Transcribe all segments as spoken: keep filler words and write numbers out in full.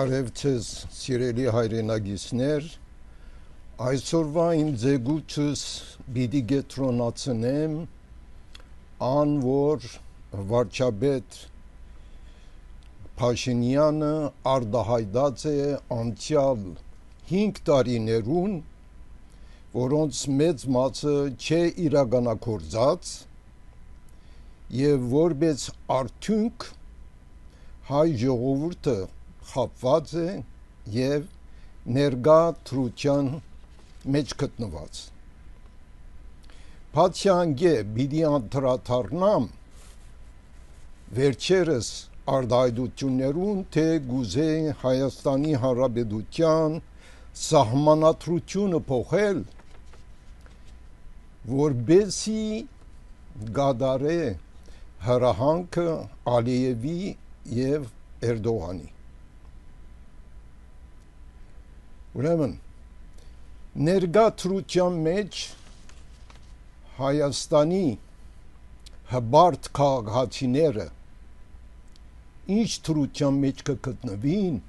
Բարև ձեզ, սիրելի հայրենագիտներ, այսօրվա իմ ձեգուչս պիտի գետրոնացնեմ ան, որ վարչապետ Փաշինյանը արտահայտած է անցյալ հինգ տարիներուն, որոնց մեծ մասը չէ իրականագործած եւ որպես արդյունք հայ ժողովուրդը խապված է եւ ներկա թրության մեջ գտնված։ Բացի անգե պիտի անդրադառնամ վերջերս արտահայտություններուն, թե գուզե Հայաստանի Հանրապետության սահմանադրությունը փոխել, որբեսի գադարե հրահանգը Ալիևի եւ Էրդողանի։ Ուրեմն ներկա թրության մեջ Հայաստանի հբարտ քաղաքացիները ինչ թրության մեջ կգտնվին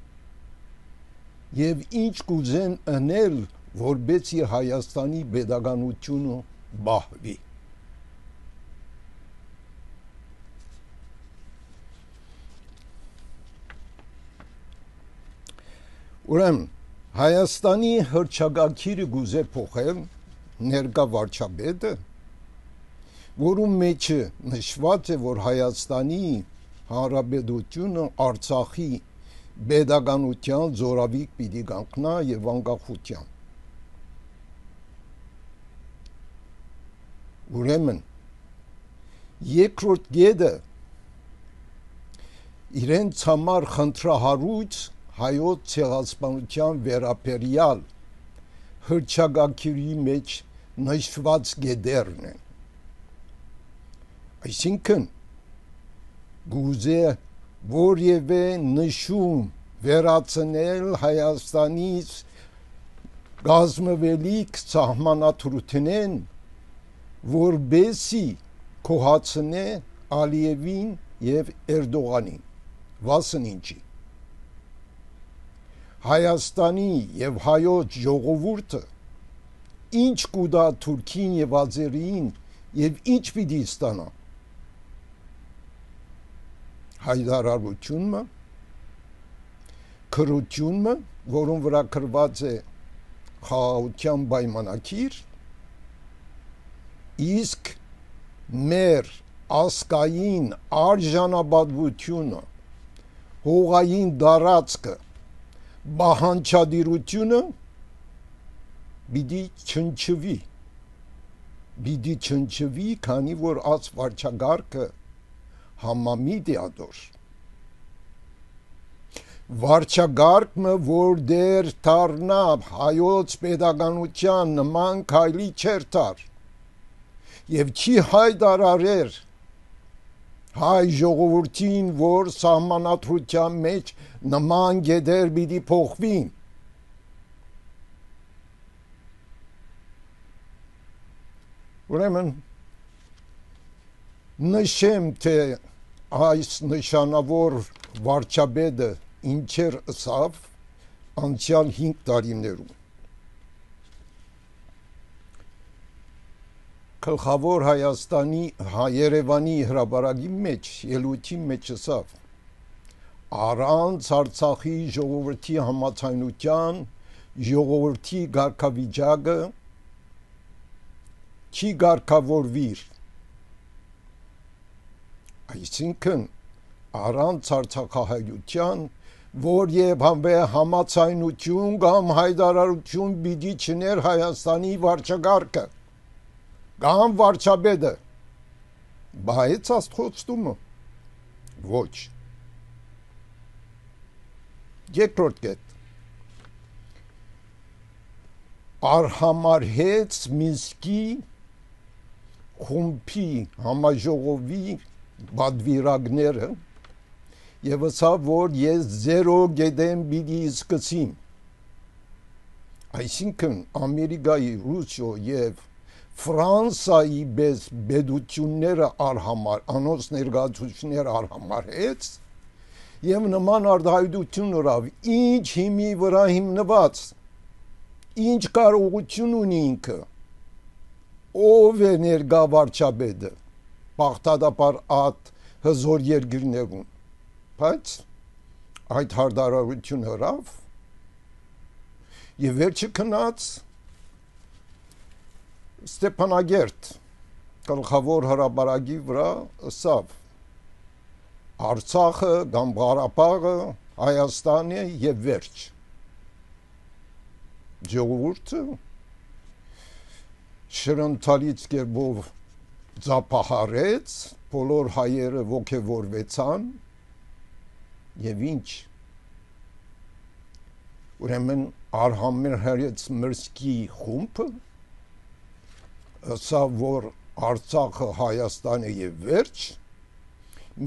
եւ ինչ կուզեն անել, որբեսի Հայաստանի pedagogiությունը բահվի։ Ուրեմն Հայաստանի հռչակագիրը գուզե փոխել ներկա վարչապետը, որում մեջ նշված է, որ Հայաստանի Հանրապետությունը Արցախի pedagogiության զորավիք պիտի կանգնա եւ անկախության։ Ուրեմն երկրորդ գեդը իրենց համար խնդրահարույց հայոց ցեղասպանության վերաբերյալ հռչակագիրի մեջ նշված գեդերն են։ Այսինքն գուզե որևէ նշում վերացնել Հայաստանից գազմվելիք սահմանադրութենեն, որբեսի կոհացնե Ալիևին եւ Էրդողանին, վասն ինչի։ Հայաստանի եւ հայոց ժողովուրդը ինչ կուտա Թուրքին եւ Ազերին եւ ինչ պիտի ստանա։ Հայդարարությունը, քրությունը, որոնց վրա գրված է խաղաղության պայմանագիր, իսկ մեր ասկային արժանապատվությունը, հողային դարածքը, բահանջադիրությունը պիտի չնչվի, պիտի չնչվի, քանի որ այս վարչագարկը համամիտ է ադոր։ Վարչագարկը, որ դեր դառնա հայոց pedagogiության նման քայլի չեր տար եւ չի հայտարարեր հայ ժողովրդին, որ սահմանադրության մեջ նման գեդեր պիտի փոխվին։ Ուրեմն նշեմ, թե այս նշանավոր վարչապետը ինչեր ըսավ անցյալ հինգ տարիներում։ Գլխավոր Հայաստանի Երևանի հրապարակի մեջ ելույթի մեջ ասավ. առանց Արցախի ժողովրդի համաձայնության ժողովրդի կարգավիճակը չի կարգավորվիր։ Այսինքն առանց արցախահայության, որ եւ համաձայնություն կամ հայտարարություն պիտի չներ Հայաստանի վարչագարկը կամ վարչապետը, բայց աստղոստումը ոչ։ Երկրորդ կետ արհամարհեց Մինսկի խումբի համաժողովի բադվիրագները եւ ասավ, որ ես զերո գեդեմ պիտի սկսեմ։ Այսինքն Ամերիկայի, Ռուսիո եւ Ֆրանսայի բես բեդությունները արհամար, անոնց ներկայացուցիչները արհամարհեց եւ նման արտահայտություն ունավ, ինչ հիմի վրա հիմնված, ինչ կարողություն ունի ինքը, ով է ներկա վարչապետը, բաղդադապար այդ հզոր երկրներում, բայց այդ հարդարարություն հրավ եւ վերջը քնած Ստեփանագերտ գլխավոր հրապարակի վրա ասավ Արցախը կամ Ղարաբաղը Հայաստանը եւ վերջ ժողովուրդը շրընթալից կերպով ձապահարեց բոլոր հայերը ոգևորվեցան եւ ինչ ուրեմն Արհամեր հայեց մրցքի խումբը ասա որ Արցախը Հայաստանը եւ վերջ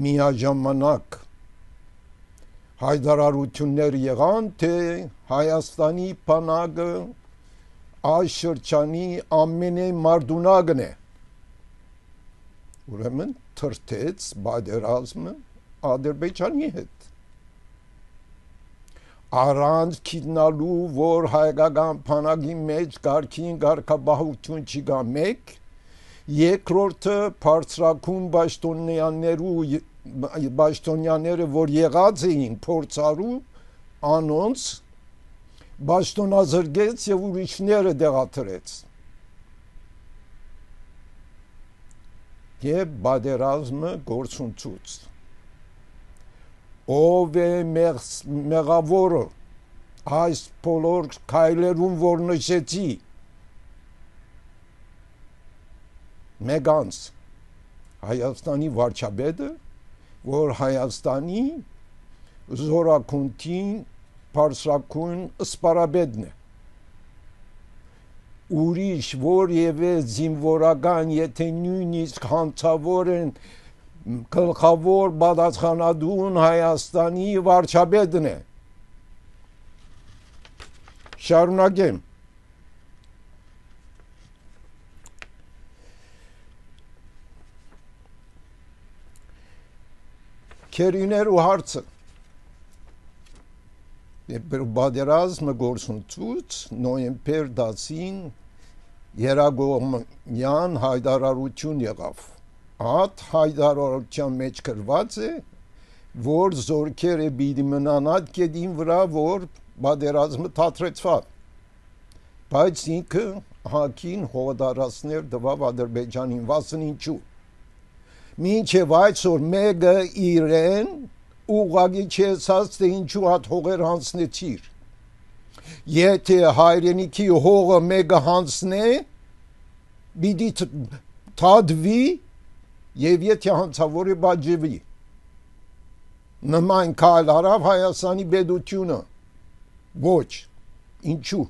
միաժամանակ հայտարարություններ եղան թե Հայաստանի բանակը այս շրջանի ամենամարդունակն է ուրեմն թրթեց բادرազմը Ադրբեջանի հետ առանց քիտնալու որ հայկական բանակի մեջ գարքին գարկաբահություն չկա մեկ երկրորդը բարձրակուն պաշտոնյաներու պաշտոնյաները որ եղած էին փորձարու անոնց պաշտոնազրկեց եւ ուրիշները դեղաթրեց եւ բادرազմը գործունցուց ով է մեղավորը այս բոլոր քայլերուն որ նշեցի մեգանց Հայաստանի վարչապետը որ Հայաստանի զորակունտին բարձրակուն սպարաբեդն է ուրիշ որևէ զինվորական եթե նույնիսկ հանցավոր են գլխավոր պատասխանատուն Հայաստանի վարչապետն է շարունակեմ Քերիներու հարցը բادرազմը գործունցուց նոյեմբեր դասին երագոմյան հայտարարություն եղավ Այդ հայտարարության մեջ գրված է որ զորքերը պիտի մնան այդ կետին վրա որ բادرազմը թատրեցավ բայց ինքը հակին հողատարածքներ տվավ Ադրբեջանին վասն ինչու մինչև այսօր մեկը իրեն ուղղակի չեսած թե ինչու հատ հողեր հանձնեցիր եթե հայրենիքի հողը մեկը հանձնե պիտի թադվի եւ եթե հանցավորը բաժվի նման կալ արավ Հայաստանի պետությունը ոչ ինչու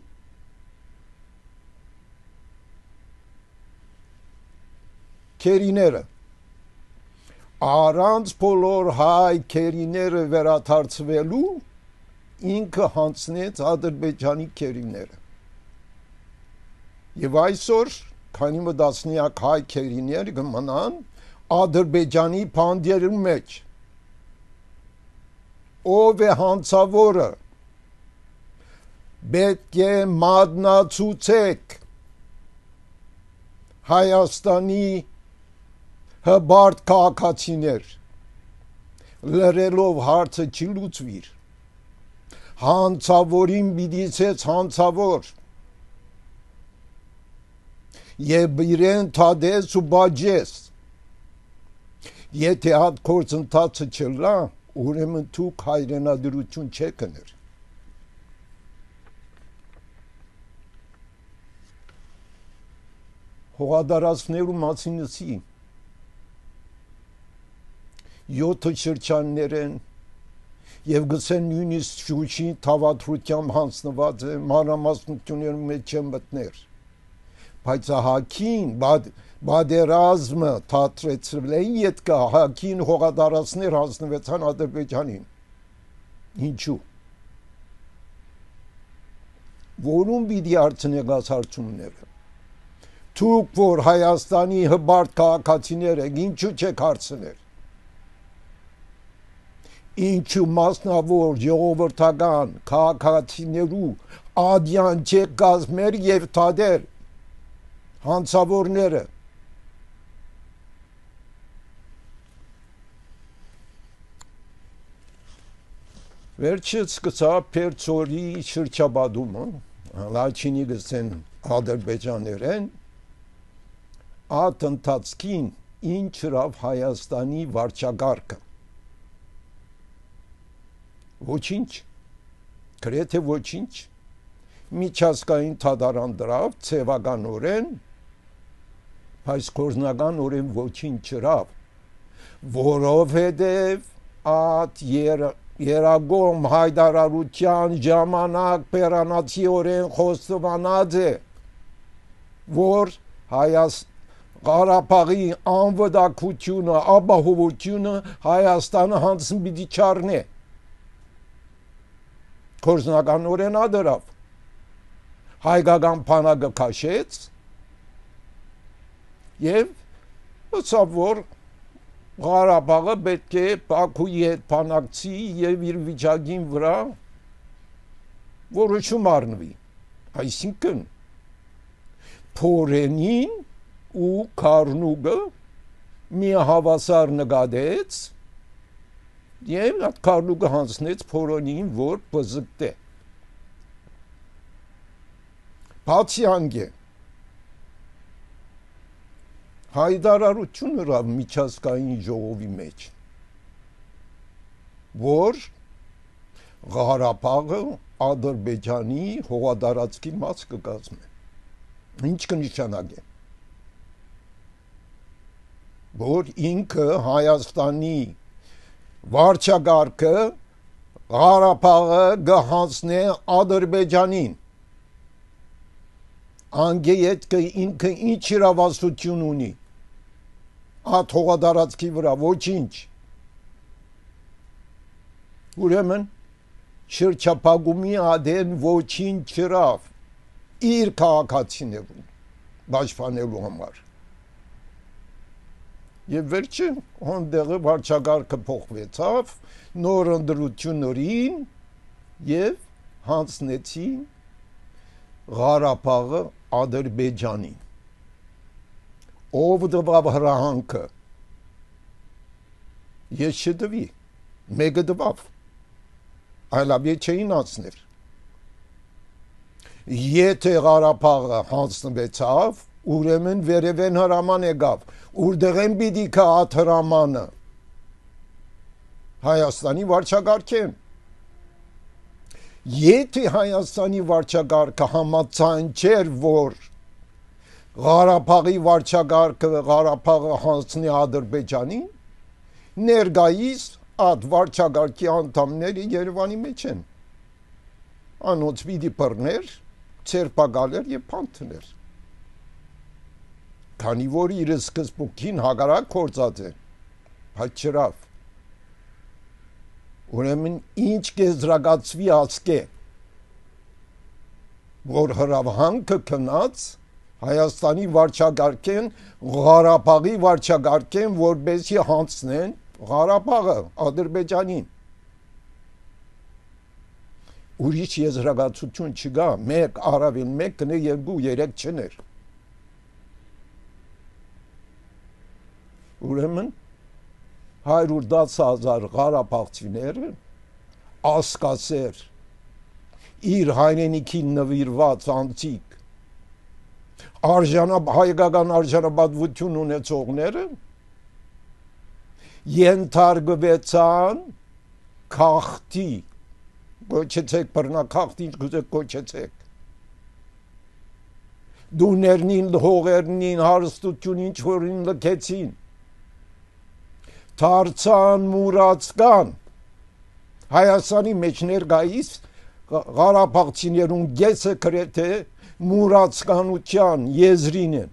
քերիները առանց բոլոր հայ քերիները վերադարձվելու ինքը հանձնեց Ադրբեջանի քերիները եւ այսօր քանի մտածնիակ հայ քերիները կմնան Ադրբեջանի բանդերու մեջ ով է հանցավորը պետք է մատնացուցեք Հայաստանի հբարտ քաղաքացիներ լրելով հարցը չի լուծվիր հանցավորին պիտիցեց հանցավոր եւ իրեն թադես ու բաջես եթե հատ գործընթացը չլա ուրեմն դուք հայրենադրություն չեք կներ հողատարածքներու մասինսի յոթ շրջաններ են եւ գցեն նույնիսկ շուշի թավադրությամբ հանձնված է մանրամասնությունների մեջ չեն մտներ բայց հակին բادرազմը թատրեցրել են յետքա հակին հողատարածքներ հանձնվեցան Ադրբեջանին ինչու որում պիտի արցնեք այս հարցումները դուք որ Հայաստանի հբարտ քաղաքացիներ եք ինչու չեք հարցնել ինչու մասնավոր ժողովրդական քաղաքացիներու ադյան չեք գազմեր եւ թադեր հանցավորները վերջը սկսա Պերցորի շրջաբադումը լաչինի գսեն ադրբեջաներեն ատ ընթացքին ինչ հրավ Հայաստանի վարչագարկը ոչինչ գրեթե ոչինչ միջազգային թադարան դրավ ցեվականորեն բայց կորզնականորեն ոչինչ հրավ որովհետև at եր Երագոմ հայդարարության ժամանակ պերանացիորեն խոստովանած է որ Հայաց Ղարաբաղի անվտանգությունը ապահովությունը Հայաստանը հանձն պիտի չառնի կորզնականորեն ադրավ հայկական բանակը քաշեց եւ ըստ որ Ղարաբաղը պետք է Բաքուի հետ բանակցի եւ իր վիճակին վրա որոշում առնվի այսինքն փորենին ու Քարնուգը մի հավասար նկատեց եւ այդ Քարնուգը հանձնեց փորենին որ բզկտե բացի անգե հայդարարություն հրավ միջազգային ժողովի մեջ որ Ղարաբաղը Ադրբեջանի հողատարածքի մաս կկազմի ինչ կնշանակի որ ինքը Հայաստանի վարչագարկը Ղարաբաղը գահանցնե Ադրբեջանին անգեյետ կը ինքը ինչ իրավասություն ունի at հողատարածքի վրա ոչինչ ուրեմն շրջափակումի ադեն ոչինչ չրավ իր քաղաքացիներուն պաշտպանելու համար եւ վերջը հոնդեղը վարչագարկը փոխվեցավ նոր ընդրություններին եւ հանձնեցին Ղարաբաղը Ադրբեջանին ով դվավ հրահանգը ես չդվի մեկը դվավ այլավե չէին անցներ եթե Ղարաբաղը հանձնվեցավ ուրեմն վերևեն հրաման եկավ ուրդեղ են պիտի կա այդ հրամանը Հայաստանի վարչագարկեն եթե Հայաստանի վարչագարկը համաձայն չէր որ Ղարաբաղի վարչագարկը Ղարաբաղը հանձնի Ադրբեջանին ներկայիս այդ վարչագարկի անդամները Երևանի մեջ են անոնց պիտի բռներ ցերպակալեր եւ փանթներ քանի որ իր սկզբունքին հակառակ կործած է բայց չրավ ուրեմն ինչ կեզրակացվի ասկե որ հրավանքը կնած Հայաստանի վարչագարկեն Ղարաբաղի վարչագարկեն որբեսի հանձնեն Ղարաբաղը Ադրբեջանին ուրիշ եզրակացություն չկա մեկ առավել մեկ կնե երկու երեք չներ ուրեմն հարյուր դաս հազար Ղարաբաղցիները ասկասեր իր հայրենիքին նվիրված անձիկ արժանապ հայկական արժանապատվություն ունեցողները ենթարկվեցան քաղաքտի կոչեցեք բռնակախտին գուզեք կոչեցեք դուներնին հողերնին հարստություն ինչ որին լքեցին դարձան մուրացկան Հայաստանի մեջ ներկայիս Ղարաբաղցիներուն գեսը գրեթե մուրացկանության եզրին են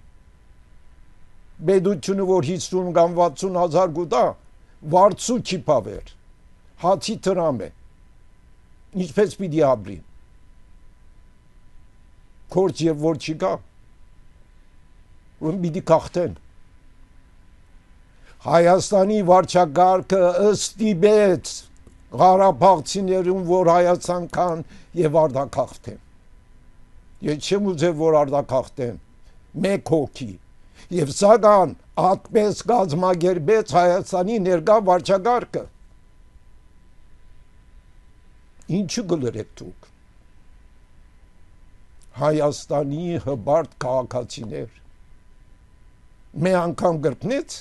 բեդությունը որ հիսուն կամ վաթսուն հազար գուտա վարձու չի պավեր հացի տրամ է ինչպես պիտի ապրի կորց և որ չի կա ում պիտի կախտեն Հայաստանի վարչագարկը ըստիպեց Ղարաբաղցիներուն, որ Հայաստան կան եւ արտաքաղթեն։ Ես չեմ ուզել, որ արտաքաղթեն մեկ հոգի։ Եվ սակայն այդպես գազմագերբեց Հայաստանի ներկա վարչակարգը։ Ինչու գլրեք դուք։ Հայաստանի հբարտ քաղաքացիներ մի անգամ գրկնեց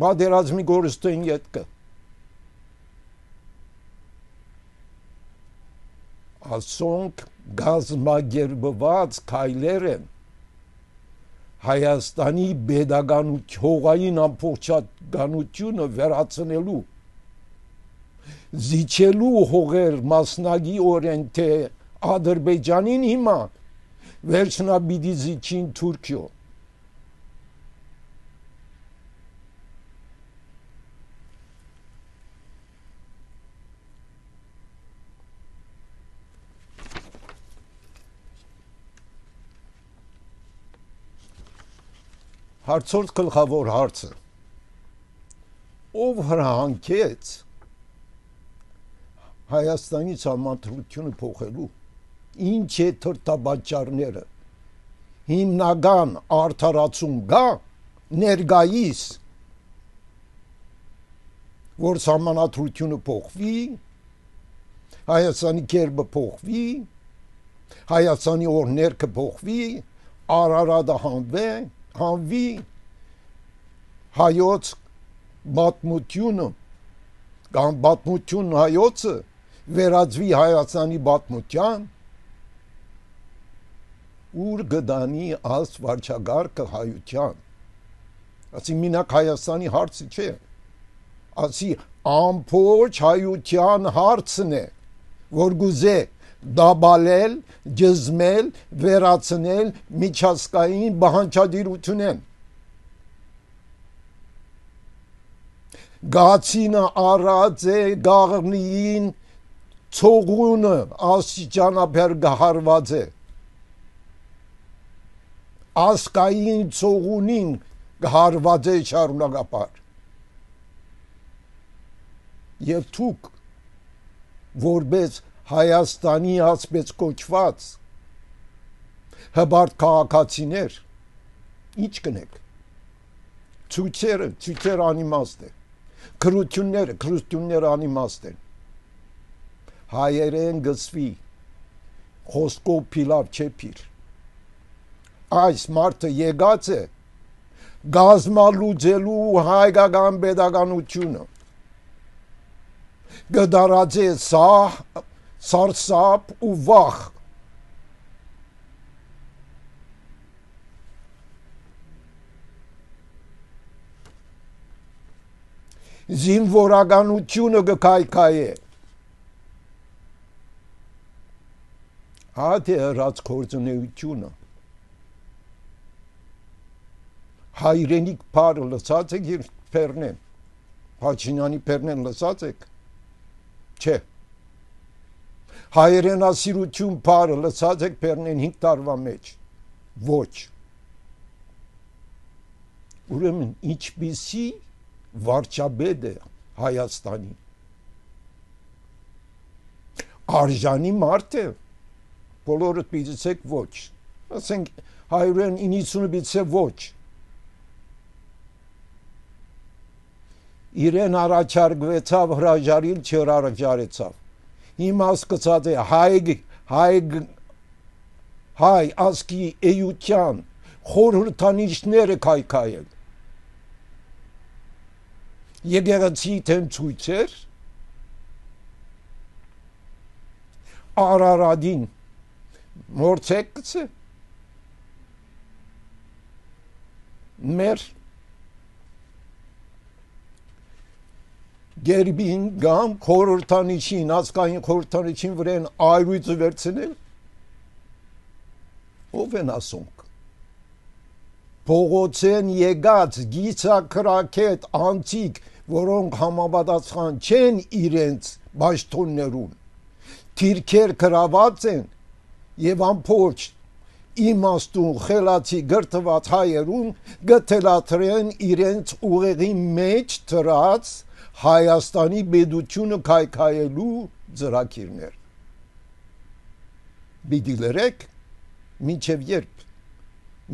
բادرազմի գորստոյին ետքը ասոնք գազմագերբված քայլեր են Հայաստանի pedagogic հողային ամբողջականությունը վերացնելու զիջելու հողեր մասնագի օրեն թե Ադրբեջանին հիմա վերջնաբիդի զիջին Թուրքիո Հարցորդ գլխավոր հարցը ով հրահանգեց Հայաստանի համանդրությունը փոխելու ինչ է թրտաբաճարները հիմնական արդարացում գա ներգայիս որ համանդրությունը փոխվի Հայաստանի կերպը փոխվի Հայաստանի օրներքը փոխվի Արարատը հանվի հանվի հայոց պատմությունը կամ պատմություն հայոցը վերածվի Հայաստանի պատմության ուր գդանի աս վարչագարկը հայության ասի մինակ Հայաստանի հարցը չէ ասի ամբողջ հայության հարցն է որ գուզե դաբալել, ջզմել, վերացնել միջազգային բանջարդիրությունեն Գացինը առած է գաղնիին ցողունը աստիճանաբար գահարված է ասկային ցողունին գահարված է շարունակապար եւ թուք որպես Հայաստանի ասպես կոչված հբարտ քաղաքացիներ ինչ կնեք ցույցերը ցույցեր անիմաստ է քրությունները քրությունները անիմաստ են հայերեն գծվի խոսքով փիլավ չեփիր այս մարդը եկած է գազմալուծելու հայկական pedagogiությունը գդարած է սա Սարսափ ու վախ զինվորականությունը գկայքայ է հատ է հրած կործունեությունը հայրենիք պարը լսած եք իր պերնեն Հաչինյանի պերնեն լսած եք չէ հայրենասիրություն պարը լսած եք պերնեն հինգ տարվա մեջ ոչ ուրեմն ինչպիսի վարչապետ է Հայաստանի արժանի մարդ է բոլորդ պիտեցեք ոչ ասենք հայրեն իննսունը պիտեցե ոչ իրեն առաջարկվեցավ հրաժարիլ չեր առաջարեցավ հիմա սկսած է հայ հայ հայ ասկի էյության խորհրդանիշները քայքայել եկեղեցի թեմ ցույցեր Արարադին մորցեկցը մեր Գերբին գամ խորհրդանիշին ասկային խորհրդանիշին վրան այրույցը վերցնել ով են ասոնք փողոցեն եկած գիծակրակետ անցիկ որոնք համապատասխան չեն իրենց ճաշտոններուն թիրքեր գրաված են եւ ամբողջ իմաստուն խելացի գրթված հայերուն գտելաթրեն իրենց ուղեղի մեջ դրած Հայաստանի բեդությունը քայքայելու ծրագիրներ։ Պիտի լրեք, մինչև երբ,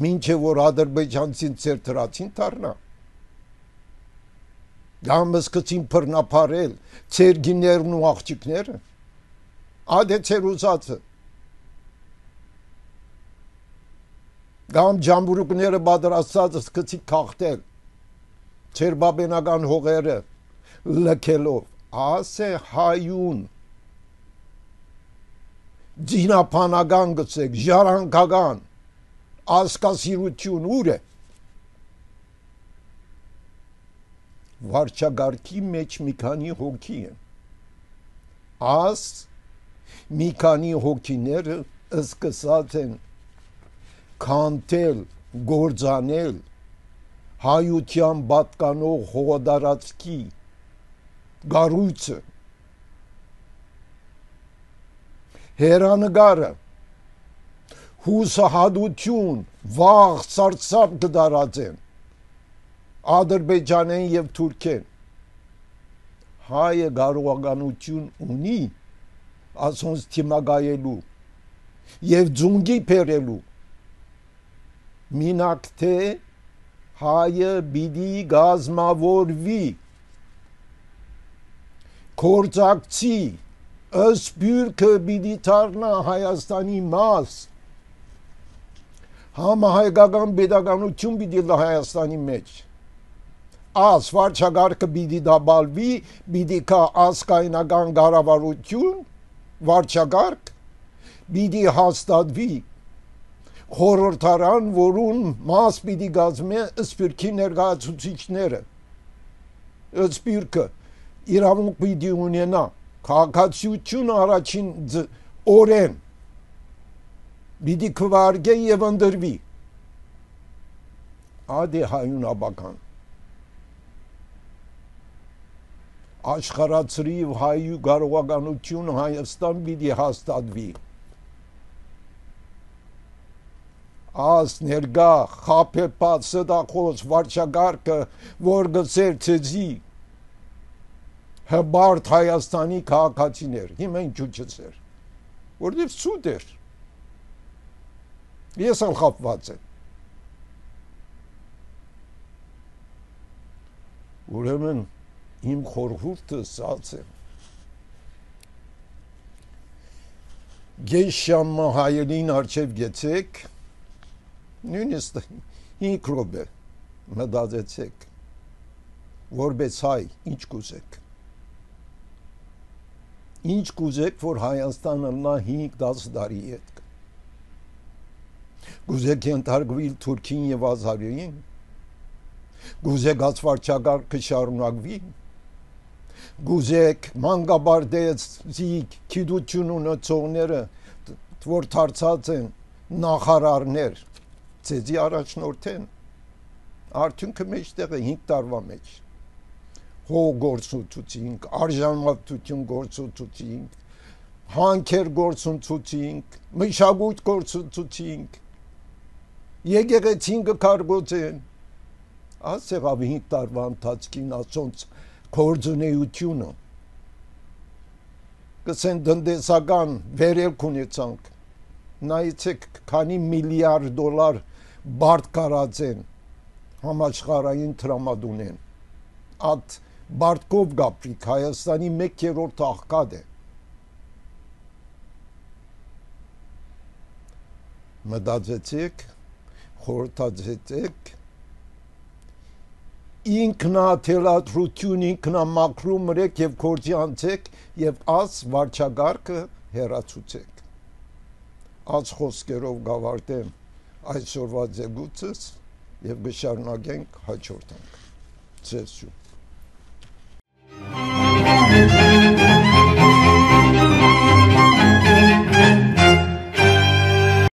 մինչև որ ադրբեջանցին ծեր տրացին դառնա։ Կամ սկսին բռնապարել ծեր գիներն ու աղջիկները, ադե ծեր ուզածը։ Կամ ջամբուրուկները պատրաստած սկսի քաղտել ծեր բաբենական հողերը լքելով, ասե հայուն ձինապանական գցեք, ժառանգական ասկասիրություն ուր է։ Վարչագարքի մեջ մի քանի հոգի են, աս մի քանի հոգիները սկսած են քանթել, գործանել հայության պատկանող հողատարածքի գառույցը, հերանգարը, հուսահատություն, վաղ սարսափ կդարածեն Ադրբեջանեն եւ Թուրքեն։ Հայը կարողականություն ունի ասոնց թիմագայելու եւ ձունգի փերելու, մինակ թե հայը բիդի գազմավորվի, կորցակցի, ըսպյուրքը բիդի դառնա Հայաստանի մաս, համահայկական պետականություն բիդի լա Հայաստանի մեջ, աս վարչագարքը բիդի դաբալվի, բիդի կա ասկայնական կառավարություն, վարչագարք, բիդի հաստատվի խորհրդարան, որուն մաս պիտի կազմի ըսպյուրքի ներկայացուցիչները, ըսպյուրքը իրավունք պիտի ունենա, քաղաքացիությունը առաջին օրեն պիտի քվարկե եւ ընդրվի, ադե հայունաբական, աշխարհացրի հայու կարողականություն Հայաստան պիտի հաստատվի, աս ներգա խապեպած սդախոս վարչագարքը, որ գծեր ծեզի հբարդ Հայաստանի քաղաքացիներ, հիմա ինչու չծեր, որտև սուտ էր, ես ալ խապված եմ, ուրեմն իմ խորհուրդը սած է, գեշ շամը հայելին արջև գեցեք, նույնիսկ հինգ րոպե մտածեցեք, որպես հայ ինչ կուզեք, ինչ կուզեք, որ Հայաստանը նա հինգ դաս տարի հետ, կուզեք ենթարկվի Թուրքին եւ Ազարիին, կուզեք ածվարչագարքը շարունակվի, կուզեք մանկաբարձի գիտություն ունեցողները, որ դարձած են նախարարներ, ծեզի առաջնորդեն, արդյունքը մեջտեղ է հինգ տարվա մեջ, հող գործունեություն, արժանապատվություն գործունեություն, հանքեր գործունեություն, մշակույթ գործունեություն, եկեղեցին կարգոծեն, ասեղավ հինգ տարվա ընթացքին ասոնց գործունեությունը, կսեն տնտեսական վերելք ունեցանք, նայեցեք քանի միլիարդ դոլար բարդ կարած են համաշխարհային տրամադունեն, այդ Բարտկով գապրիկ Հայաստանի մեկ երրորդ աղքատ է, մտածեցեք, խորհրդածեցեք, ինքնաթելադրություն, ինքնամաքրում մրեք եւ գործի անցեք եւ աս վարչագարքը հեռացուցեք, աս խոսքերով գավարտեմ այսօրվա ձգուցս եւ կշարունակենք հաջորդ անգամ, ձեզ շուտ